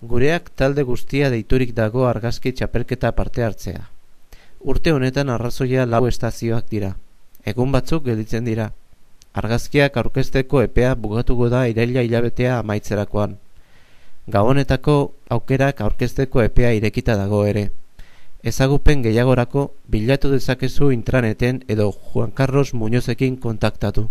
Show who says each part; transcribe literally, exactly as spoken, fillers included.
Speaker 1: Gureak talde guztia deiturik dago argazki txapelketa parte hartzea. Urte honetan arrazoia lau estazioak dira. Egun batzuk gelditzen dira. Argazkiak aurkezteko epea bugatuko da iraila hilabetea amaitzerakoan. Gabonetako aukerak aurkezteko epea irekita dago ere. Ezagupen gehiagorako bilatu dezakezu intraneten edo Juan Carlos Muñozekin kontaktatu.